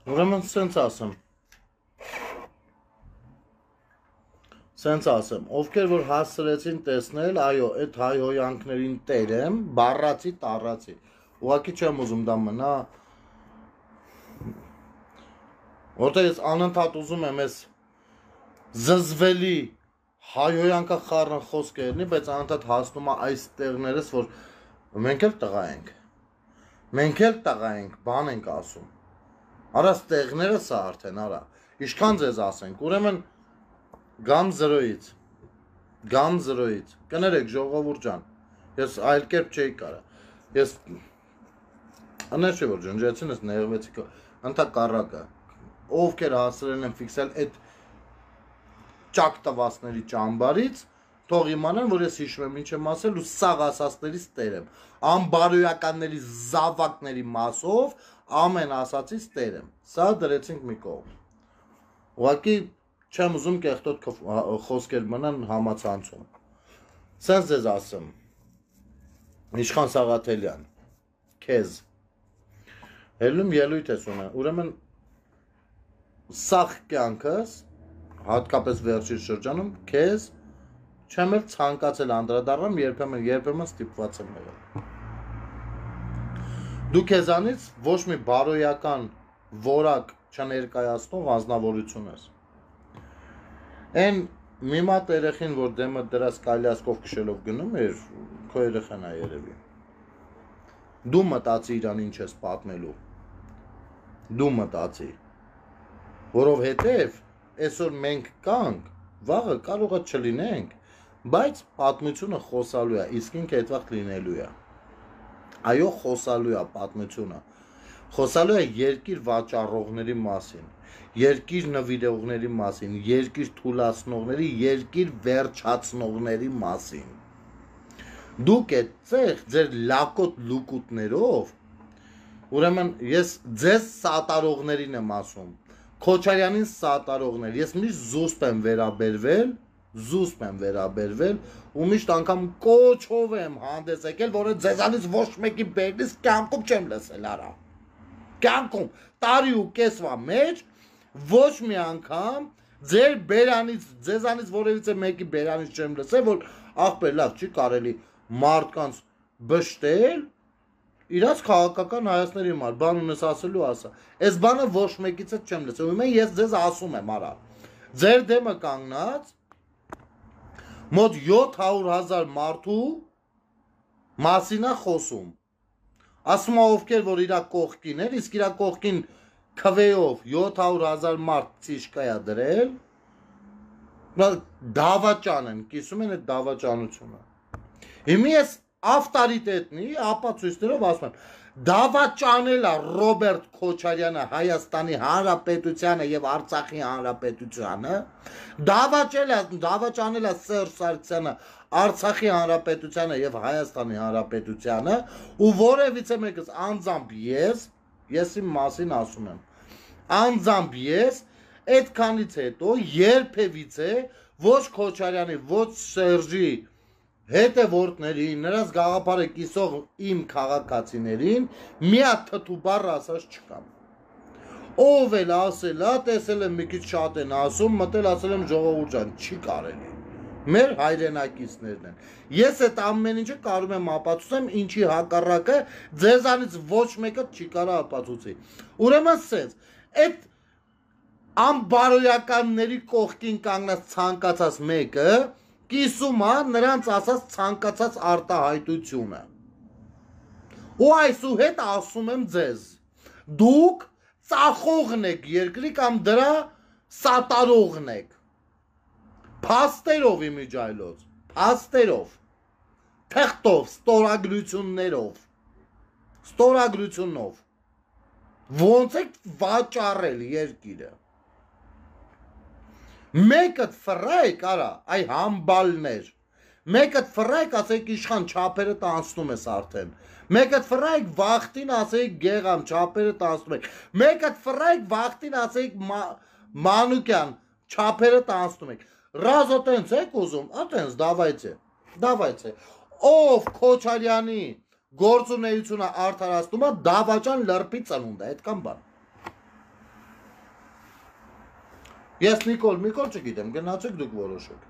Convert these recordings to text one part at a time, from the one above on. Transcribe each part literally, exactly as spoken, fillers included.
Ուրեմն սենց ասեմ, սենց ասեմ, ովքեր որ հասցրեցին տեսնել, այո, այդ հայհոյանքներին տեր եմ, բառացի, տառացի, ուղղակի չեմ ուզում դա մնա, որտեղ ես անընդհատ ուզում եմ ես զզվելի հայհոյանքա խառն խոսքերնի, բայց անընդհատ հասնում է այս տեղներս, որ մենք էլ տղա ենք, մենք էլ տղա ենք, բան ենք ասում, արա ստեղները սա արդեն, արա, իշքան ձեզ ասենք, ուրեմն գամ զրոյից, գամ զրոյից, կներեք ժողովուրդ ջան, ես այլ կերպ չէի կարա, ես, աներ չէ որ ջնջեցին ես նեղվեցի, ընդհակառակը, ովքեր հասրել են ֆիքսել այդ ճակ տվածների ճամբարից, թող իմանան, որ ես հիշում եմ ինչ եմ ասել ու սաղ ասածներից տեր եմ, ամբարոյականների զավակների մասով ամեն ասածից տեր եմ, սա դրեցինք մի կողմ, ուղղակի չեմ ուզում կեղտոտ խոսքեր մնան համացանցում, սենց ձեզ ասեմ, Իշխան Սաղաթելյան, քեզ, հելում ելույթ ես ունեն, ուրեմն սաղ կյանքս, հատկապես վերջին շրջանում, քեզ չեմ էլ ցանկացել անդրադառնամ, երբեմն երբեմն ստիպված եմ եղել։ Դու քեզանից ոչ մի բարոյական որակ չներկայացնող անձնավորություն ես։ Այն մի մատ երեխին, որ դեմը դրած կայլասկով քշելով գնում էր, քո երեխան է երևի։ Դու մտածի իրան ինչ ես պատմելու։ Դու մտածի, որովհետև այսօր մենք կանք, վաղը կարող է չլինենք, բայց պատմությունը խոսալու է, իսկ ինքը այդ վաղ լինելու է։ Այո, խոսալու է պատմությունը, խոսալու է երկիր վաճառողների մասին, երկիր նվիրողների մասին, երկիր թուլացնողների, երկիր վերջացնողների մասին։ Դուք այդ ծեղ ձեր լակոտ լուկուտներով, ուրեմն ես ձեզ սատարողներին եմ ասում, Քոչարյանին սատարողներ, ես միշտ զուսպ եմ վերաբերվել, զուսպ եմ վերաբերվել ու միշտ անգամ կոչով եմ հանդես եկել, որը ձեզանից ոչ մեկի բերնից կյանքում չեմ լսել արա։ Կյանքում տարի ու կեսվա մեջ ոչ մի անգամ ձեր բերանից, ձեզանից որևիցե մեկի բերանից չեմ լսել, որ ախպեր լավ չի կարելի մարդկանց բշտել, իրաց քաղաքական հայացների համար, բան ունես ասելու ասա, այս բանը ոչ մեկից էլ չեմ լսել, ուրեմն ես ձեզ ասում եմ արա, ձեր դեմը կանգնած, մոտ յոթ հարյուր հազար մարդու մասին է խոսում, ասում է ովքեր, որ իրա կողքին էր, իսկ իրա կողքին քվեով յոթ հարյուր հազար մարդ ծիշկա է դրել, դավաճան են, կիսում են այդ դավաճանությունը, հիմի ես ավտորիտետնի ապացույցներով ասում եմ, դավաճանել է Ռոբերտ Քոչարյանը Հայաստանի Հանրապետությանը եւ Արցախի Հանրապետությանը, դավաճանել է Սերժ Սարգսյանը Արցախի Հանրապետությանը եւ Հայաստանի Հանրապետությանը, ու որևիցե մեկս անձամբ ես, ես իմ մասին ասում եմ, անձամբ ես այդքանից հետո երբևիցե ոչ Քոչարյանի, ոչ Սերժի հետևորդներին, նրանց գաղափարը կիսող իմ քաղաքացիներին մի հատ թթու բառ ասած չկամ։ Ով էլ ասել է, տեսել եմ մի քիչ շատ են ասում, մտել ասել եմ ժողովուրդ ջան, չի կարելի։ Մեր հայրենակիցներն են։ Ես այդ ամեն ինչը կարող եմ ապացուցեմ, ինչի հակառակը ձեզանից ոչ մեկը չի կարող ապացուցի։ Ուրեմն սենց, այդ ամբարոյականների կողքին կանգնած ցանկացած մեկը կիսում է նրանց ասած ցանկացած արտահայտությունը։ Ու այսուհետ ասում եմ ձեզ, դուք ծախողն եք երկրի կամ դրա սատարողն եք։ Փաստերով իմիջայլոց, փաստերով, թղթով, ստորագրություններով, ստորագրությունով, ոնց եք վաճառել երկիրը։ Մեկըդ ֆրայք արա, այ համբալներ, մեկըդ ֆրայք ասեք իշխան չապերը տանցնում ես արդեն, մեկըդ ֆրայք վախտին ասեք գեղամ չապերը տանցնում եք, մեկըդ ֆրայք վախտին ասեք Մանուկյան չապերը տանցնում եք, ռազո տենց եք ուզում, ատենց դավայցե, դավայցե, ով Քոչարյանի գործունեությունը արդարացնում է դավաճան լրպի ծնունդ է, այդքան բան։ Ես Նիկոլ, Միկոլ չգիտեմ, գնացեք դուք որոշեք։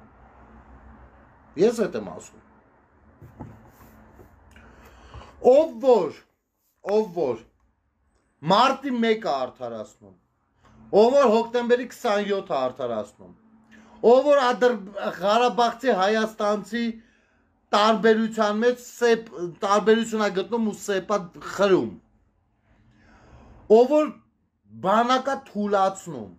Ես հետ եմ ասում։ Ով որ, ով որ մարտի մեկը արդարացնում, ով որ հոկտեմբերի քսանյոթը արդարացնում, ով որ Ղարաբաղցի Հայաստանցի տարբերության մեջ տարբերություն է գտնում ու սեպա խրում, ով որ բանակա թուլացնում,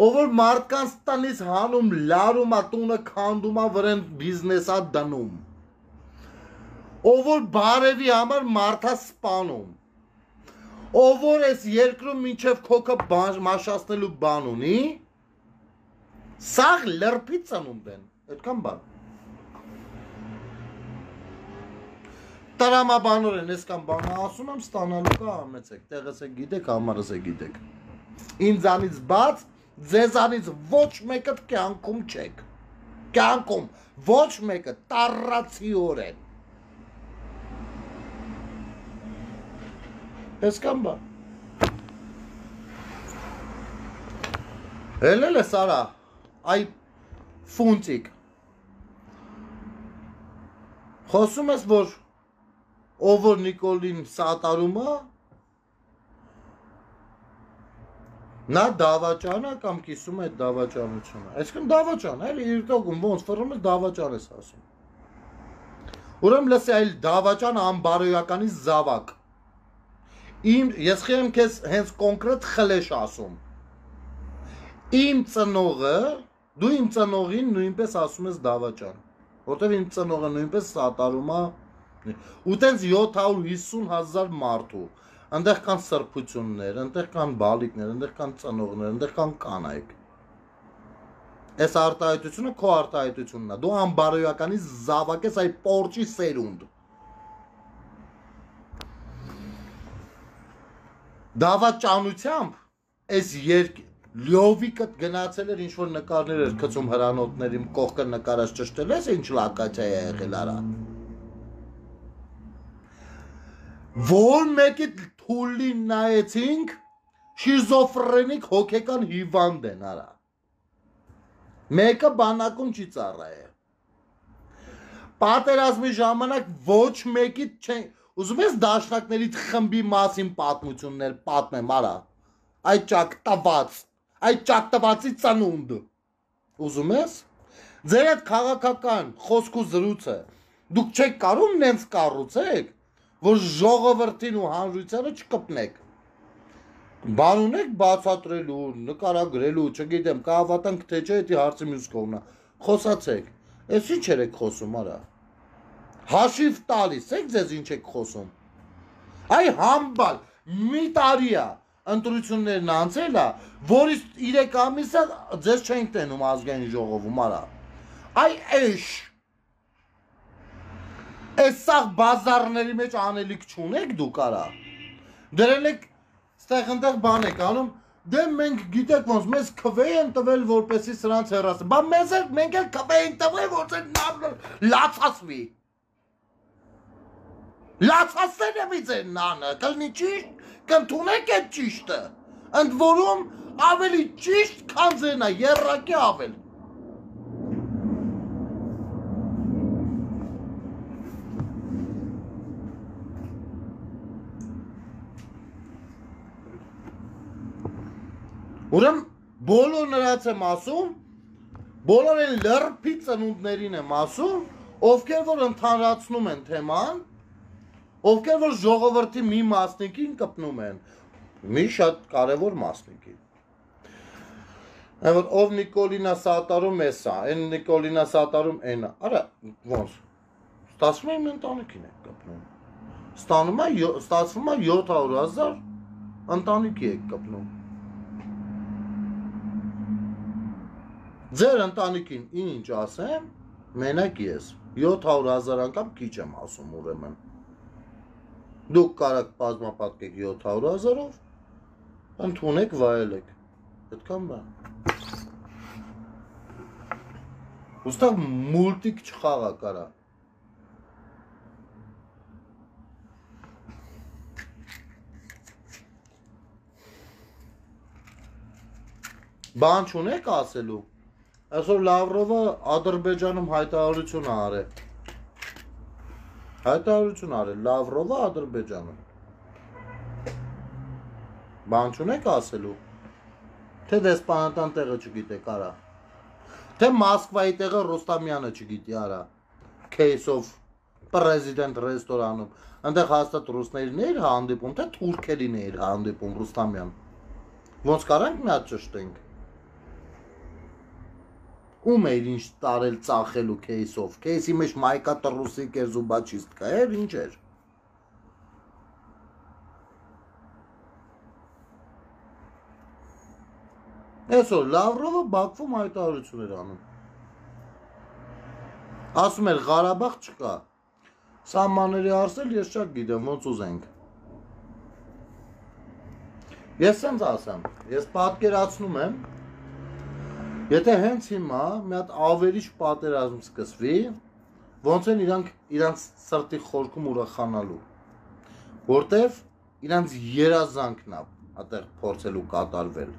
ով որ մարդկանց տնից հանում, լարում է, տունը քանդում է, վրան բիզնեսա դնում, ով որ բարևի համար մարդա սպանում, ով որ այս երկրում մինչև քոքը մաշացնելու բան ունի, սաղ լրպի ծնունդ են, այդքան բան։ Տրամաբանոր են, այսքան բանը ասում եմ, ստանալու կա ամեցեք, տեղս է գիտեք, համարս է գիտեք։ Ինձանից բաց, ձեզանից ոչ մեկը կյանքում չեք, կյանքում ոչ մեկը տառացիորեն։ Այսքան բան։ Հելել է Սարա, այ ֆունտիկ, խոսում ես, որ ով որ Նիկոլին սատարում է, նա դավաճան է կամ կիսում է դավաճանությունը, այսքան դավաճան, այլ իրտոգում ոնց ֆռում ես դավաճան ես ասում։ Ուրեմն լսի այլ դավաճան անբարոյականի զավակ։ Իմ ես խեմ քեզ հենց կոնկրետ խլեշ ասում։ Իմ ծնողը, դու իմ ծնողին նույնպես ասում ես դավաճան, որտեվ իմ ծնողը նույնպես սատարում է, ու տենց յոթ հարյուր հիսուն հազար մարդու, ընդեղ կան սրբություններ, ընդեղ կան բալիկներ, ընդեղ կան ծնողներ, ընդեղ կան կանայք։ Այս արտահայտությունը քո արտահայտությունն է, դու անբարոյականի զավակ ես այ պորճի սերունդ։ Դավաճանությամբ այս երկ լյովիկը գնացել էր ինչ-որ նկարներ էր գցում հրանոթներին կողքը նկարած ճշտել ես ինչ լակացիա է եղել արա։ Որ մեկի թուլին նայեցինք, շիզոֆրենիկ հոգեկան հիվանդ են արա։ Մեկը բանակում չի ծառայել։ Պատերազմի ժամանակ ոչ մեկի չեն, ուզում ես դաշնակների խմբի մասին պատմություններ պատմեմ արա։ Այդ ճակտված, այդ ճակտվածի ծնունդ։ Ուզում ես։ Ձեր այդ քաղաքական խոսք ու զրույցը դուք չեք կարող նենց կառուցեք, որ ժողովրդին ու հանրությանը չկպնեք։ Բան ունեք բացատրելու, նկարագրելու, չգիտեմ, կհավատանք թե չէ, դա հարցի մյուս կողմն է։ Խոսացեք։ Էս ինչ եք խոսում արա։ Հաշիվ տալիս եք ձեզ ինչ եք խոսում։ Այ համբալ, մի տարի է ընտրություններն անցել է, որից երեք ամիս է ձեզ չենք տենում ազգային ժողովում արա։ Այ էշ Այս սաղ բազարների մեջ անելիք չունեք դուք արա։ Դրել եք ստեղ ընդեղ բան եք անում, դե մենք գիտեք ոնց մեզ քվեի են տվել որպեսի սրանց հեռացնեն։ Բա մեզ էլ մենք էլ քվեի են տվել որ լացացվի։ Լացացնեն է մի ձեր նանը, կլնի ճիշտ, կընդունեք այդ ճիշտը։ Ընդ որում ավելի ճիշտ քան ձերն է, եռակի ավել։ Ուրեմն բոլոր նրանց եմ ասում, բոլոր են լրպի ծնունդներին եմ ասում, ովքեր որ ընդհանրացնում են թեման, ովքեր որ ժողովրդի մի մասնիկին կպնում են, մի շատ կարևոր մասնիկին։ Որ ով Նիկոլինա սատարում էսա, այն Նիկոլինա սատարում էնա, արա ոնց, ստացվում է իմ ընտանիքին եք կպնում, ստացվում է յոթ հարյուր հազար ընտանիքի եք կպնում։ Ձեր ընտանիքին ինչ ասեմ, մենակ ես, յոթ հարյուր հազար անգամ քիչ եմ ասում ուրեմն։ Դուք կարաք բազմապատկեք յոթ հարյուր հազարով, ընդունեք, վայելեք, այդքան բան։ Ուստեղ մուլտիկ չխաղա կարա։ Բան չունեք ասելու։ Այսօր Լավրովը Ադրբեջանում հայտարարություն արել։ Հայտարարություն արել Լավրովը Ադրբեջանում։ Բան չունեք ասելու։ Թե դեսպանատան տեղը չգիտեք, արա։ Թե Մոսկվայի տեղը Ռոստամյանը չգիտի, արա։ Case of President ռեստորանում։ Այնտեղ հաստատ ռուսներն էր հանդիպում, թե թուրքերին էր հանդիպում Ռոստամյան։ Ոնց կարանք մի հատ ճշտենք։ Ում էր ինչ տարել ծախելու case of, case-ի մեջ մայկա տրուսիկ էր զուբաչիստկա էր, ինչ էր։ Այսօր Լավրովը Բաքվում հայտարարություն էր անում։ Ասում էր Ղարաբաղ չկա։ Սահմանների արսել ես շատ գիտեմ, ոնց ուզենք։ Ես սենց ասեմ, ես պատկերացնում եմ, եթե հենց հիմա մի հատ ավերիչ պատերազմ սկսվի, ոնց են իրանք իրանց սրտի խորքում ուրախանալու, որտև իրանց երազանքն է այդտեղ փորձելու կատարվել։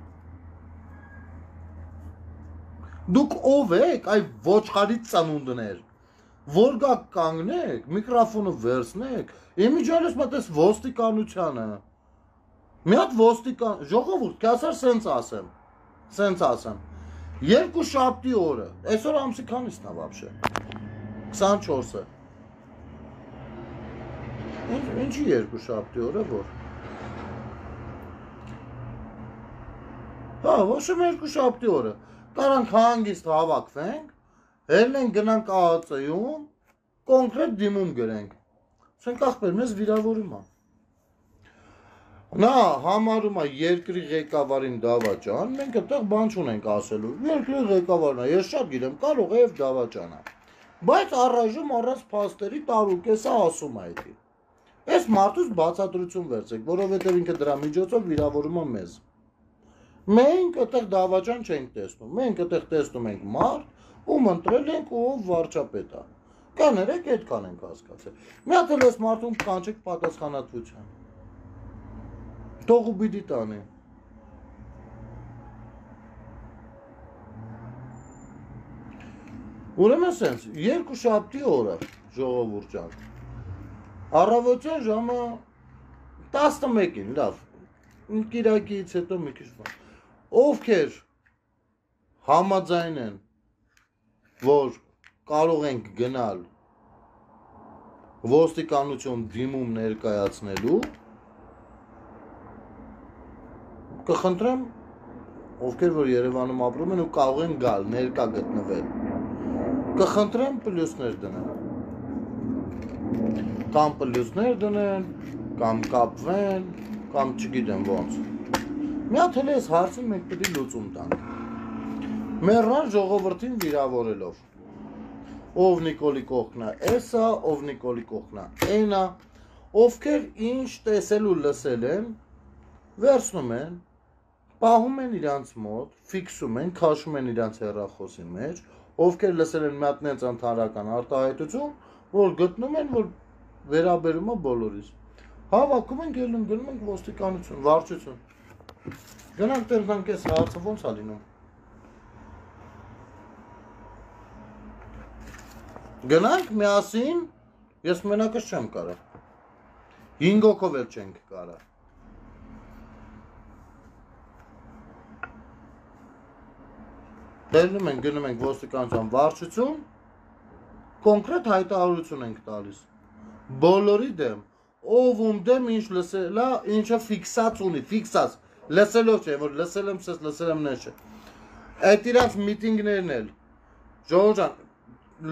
Դուք ով եք, այ ոչխարի ծնունդներ, որ գաք կանգնեք, միկրոֆոնը վերցնեք, իմիջիալես մտես ոստիկանությանը, մի հատ ոստիկան, ժողովուրդ, կասար սենց ասեմ, սենց ասեմ, երկու շաբթի օրը, այսօր ամսի քանիսն է վաբշե, քսանչորսը, ինչի երկու շաբթի օրը, որ, հա, ոչ եմ երկու շաբթի օրը, կարանք հանգիստ հավաքվենք, հելնենք գնանք ԱԱԾ-ում, կոնկրետ դիմում գրենք, սենք ախպեր, մեզ վիրավորում է, նա համարում է երկրի ղեկավարին դավաճան, մենք այդտեղ բան չունենք ասելու, երկրի ղեկավարն է, ես շատ գիտեմ, կարող է և դավաճան է, բայց առայժմ առանց փաստերի տարուկեսը ասում է այդի, այս մարդուց բացատրություն վերցեք, որովհետև ինքը դրա միջոցով վիրավորում է մեզ, մենք այդտեղ դավաճան չենք տեսնում, մենք այդտեղ տեսնում ենք մարդ, ում ընտրել ենք ու ով վարչապետ է, կաներեք այդքան ենք հասկացել, մի հատ էլ այս մարդուն կանչեք պատասխանատվության, թող ու պիտի տանի։ Ուրեմն սենց, երկու շաբթի օրը, ժողովուրդ ջան, առավոտյան ժամը տասնմեկին, լավ, կիրակից հետո մի քիչ բան, ովքեր համաձայն են, որ կարող ենք գնալ ոստիկանություն դիմում ներկայացնելու, կխնդրեմ, ովքեր որ Երևանում ապրում են ու կարող են գալ, ներկա գտնվել, կխնդրեմ պլյուսներ դնեն, կամ պլյուսներ դնեն, կամ կապվեն, կամ չգիտեմ ոնց, մի հատ էլ ես հարցին մենք պիտի լուծում տանք, մեռան ժողովրդին վիրավորելով, ով Նիկոլի կողքնա էսա, ով Նիկոլի կողքնա էնա, ովքեր ինչ տեսել ու լսել են, վերցնում են, պահում են իրանց մոտ, ֆիքսում են, քաշում են իրանց հեռախոսի մեջ, ովքեր լսել են մի հատ նենց ընդհանրական արտահայտություն, որ գտնում են, որ վերաբերում է բոլորիս, հավաքում ենք, ելնում գնում ենք ոստիկանություն, վարչություն, գնանք տերնանք ես հարցը ոնց է լինում, գնանք միասին, ես մենակս չեմ կարա, հինգ հոգով էլ չենք կարա, Տերնում ենք, գնում ենք ոստիկանության վարչություն, կոնկրետ հայտարարություն ենք տալիս, բոլորի դեմ, ով ում դեմ ինչ լսել է, ինչը ֆիքսած ունի, ֆիքսած, լսելով չէ, որ լսել եմ սես, լսել եմ նեշ է, այդ իրանց միտինգներն էլ, ժողովուրդ ջան,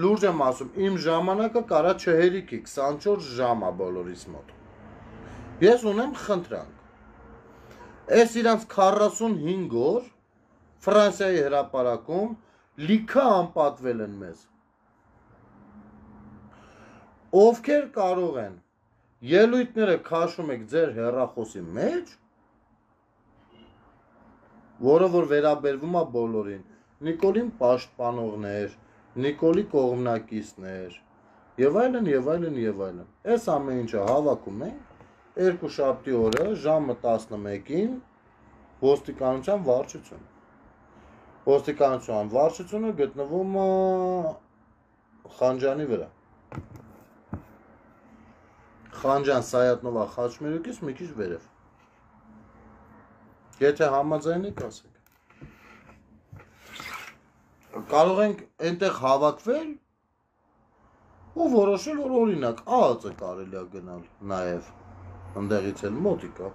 լուրջ եմ ասում, իմ ժամանակը կարա չհերիքի, քսանչորս ժամ է բոլորիս մոտ, ես ունեմ խնդրանք, այս իրանց քառասունհինգ օր, Ֆրանսիայի հրապարակում լիքը անպատվել են մեզ, ովքեր կարող են ելույթները քաշում եք ձեր հեռախոսի մեջ, որը որ վերաբերվում է բոլորին, Նիկոլին պաշտպանողներ, Նիկոլի կողմնակիցներ, եւ այլն, եւ այլն, եւ այլն, այս ամեն ինչը հավաքում ենք, երկու շաբթի օրը ժամը տասնմեկին ոստիկանության վարչություն, ոստիկանության վարչությունը գտնվում է Խանջանի վրա։ Խանջան Սայատնովա խաչմերուկից մի քիչ վերև։ Եթե համաձայն եք, ասեք։ Կարող ենք այնտեղ հավաքվել ու որոշել, որ օրինակ ԱԱԾ կարելի է գնալ նաև ընդեղից էլ մոտիկ է։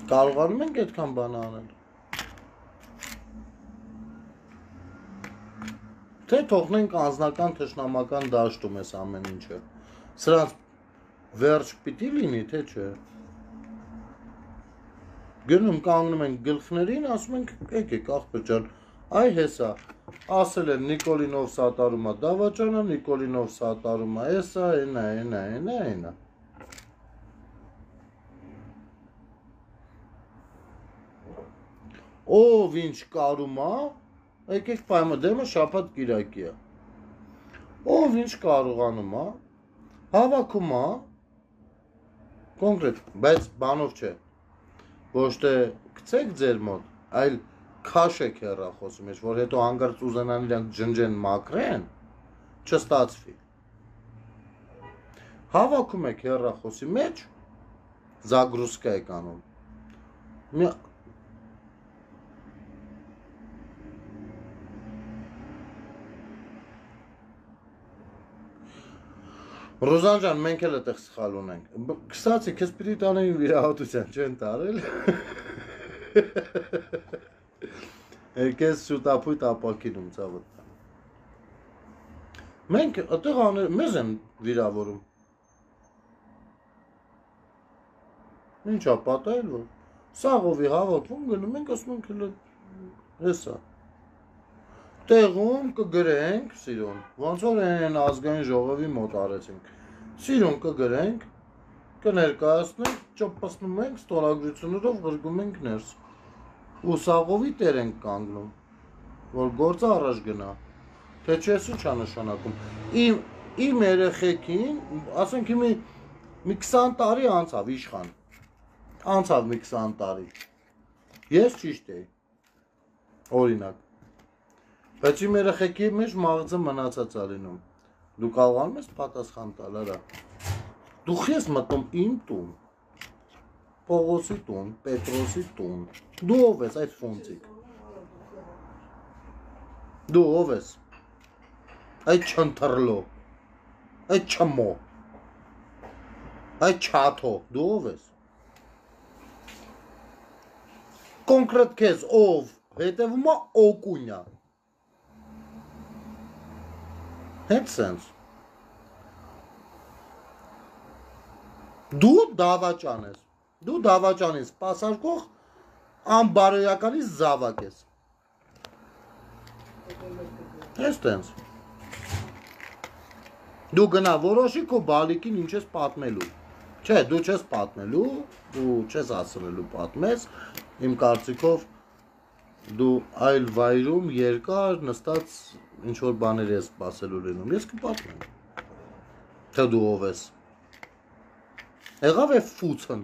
Կարողանում ենք այդքան բան անել։ Թե թողնենք անձնական թշնամական դաշտում էս ամեն ինչը։ Սրանց վերջ պիտի լինի, թե չէ։ Գնում կանգնում ենք գլխներին, ասում ենք, եկեք ախպեր ջան, այ հեսա, ասել են Նիկոլինով սատարում է դավաճանը, Նիկոլինով սատարում է էսա, այնա, այնա, այնա, այնա։ Ով ինչ կարում է, եկեք պայմը դեմը շաբաթ կիրակի է։ Ով ինչ կարողանում է, հավաքում է, կոնկրետ, բայց բանով չէ, ոչ թե գցեք ձեր մոտ, այլ քաշեք հեռախոսի մեջ, որ հետո հանգարց ուզենան իրանք ջնջեն մաքրեն, չստացվի։ Հավաքում եք հեռախոսի մեջ, զագրուսկա եք անում։ Ռոզան ջան, մենք էլ այդտեղ սխալ ունենք։ Կստացի, քեզ պիտի տանեին վիրահատության, չեն տարել։ Եկես շուտապույտ ապակինում ցավոտ։ Մենք այդտեղ աներ, մեզ են վիրավորում։ Ինչա պատահել որ։ Սաղովի հավաքվում գնում ենք, ասում ենք հələ հեսա։ Տեղում կգրենք, սիրուն, ոնց որ են ազգային ժողովի մոտ արեցինք, սիրուն կգրենք, կներկայացնենք, ճպասնում ենք, ստորագրություններով գրգում ենք ներս, ու սաղովի տեր ենք կանգնում, որ գործը առաջ գնա, թե չես ինչ անշանակում, իմ երեխեքին, ասենք իմի մի քսան տարի անցավ իշխան, անցավ մի քսան տարի, ես ճիշտ էի, օրինակ, բայց իմ երեխեքի մեջ մաղձը մնացած է լինում։ Դու կարողանում ես պատասխան տալ, արա։ Դու ես մտնում իմ տուն, Պողոսի տուն, Պետրոսի տուն։ Դու ով ես այդ ֆոնցիկ։ Դու ով ես։ Այդ չընթրլո։ Այդ չմո։ Այդ չաթո, դու ով ես։ Կոնկրետ քեզ ով, հետևում է օկունյա։ Հետ սենց դու դավաճան ես, դու դավաճանից սպասարկող անբարոյականից զավակ ես, ես տենց, դու գնա որոշի քո բալիկին ինչ ես պատմելու, չէ, դու չես պատմելու, դու չես ասրելու պատմես, իմ կարծիքով դու այլ վայրում երկար նստած ինչ-որ բաներ ես սպասելու լինում, ես կպատմեմ, թե դու ով ես, եղավ է ֆուցն,